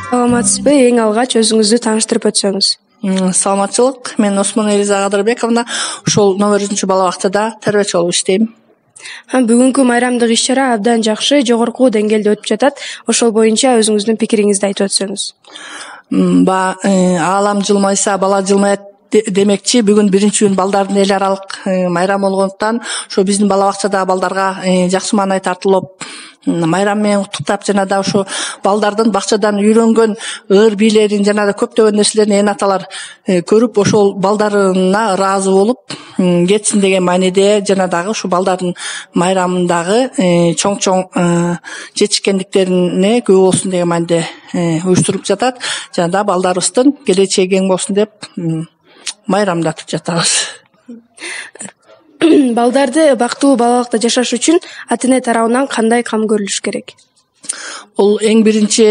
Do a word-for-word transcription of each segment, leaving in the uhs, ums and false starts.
Саламатсызбы? Эң алгач өзүңүздү тааныштырып өтсөңүз. Саламатчылык. Мен Осмон Элиза Кадырбековна, ушул номер үчүнчү бала бакчада тарбиячы болуп иштейм. Бүгүнкү майрамдык иш-чара абдан жакшы, жогорку деңгээлде өтүп жатат. Ошол боюнча өзүңүздүн пикириңизди айтып өтсөңүз. Баягы аалам жылмайса бала жылмаят демекчи, бүгүн биринчи күн балдардын эл аралык майрамы болгондуктан ошо биздин бала бакчадагы балдарга жакшы маанай тартылып, майрам менен куттуктап, жана да ошо балдардын бакчадан үйрөнгөн ыр бийлерин, жана да көптөгөн нерселерин эне аталар көрүп, ошол балдарына ыраазы болуп кетсин деген мааниде, жана дагы ушу балдардын майрамындагы чоң-чоң жетишкендиктерине күбө болсун деген мааниде уюштуруп жатат. Жана да балдарыбыздын келечеги кең болсун деп майрамдатып жатабыз. Балдарды бактылуу балалыкта жашаш үчүн ата-эне тарабынан кандай кам көрүлүш керек? Бул эң биринчи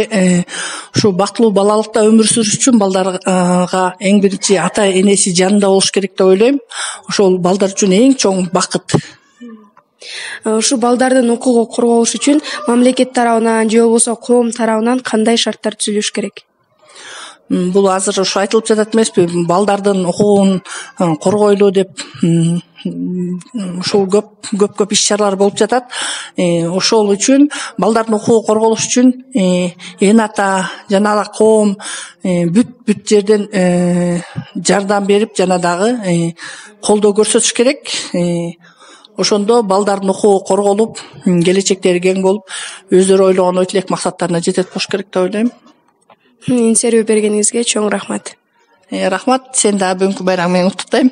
ушу бактылуу балалыкта өмүр сүрүш үчүн балдарга эң биринчи ата энеси жанында болуш керек деп ойлойм. Ошол балдар үчүн эң чоң бакыт. Ушу балдардын укугу корголуш үчүн мамлекет тарабынан же болбосо коом тарабынан кандай шарттар түзүлүш керек? Бул азыр ушу айтылып жатат эмеспи, балдардын укугун коргойлу деп ушул көп көп көп иш-чаралар болуп жатат. Ошол үчүн балдардын укугу корголуш үчүн эне ата жана да коом бүт бүт жерден жардам берип, жана дагы колдоо көрсөтүш керек. Ошондо балдардын укугу корголуп, келечектери кең болуп, өздөрү ойлогон ой тилек максаттарына жетет болуш керек деп ойлойм. Интервью бергениңизге чоң рахмат. Рахмат. Сен дагы бүгүнкү байрамың менен куттуктайм.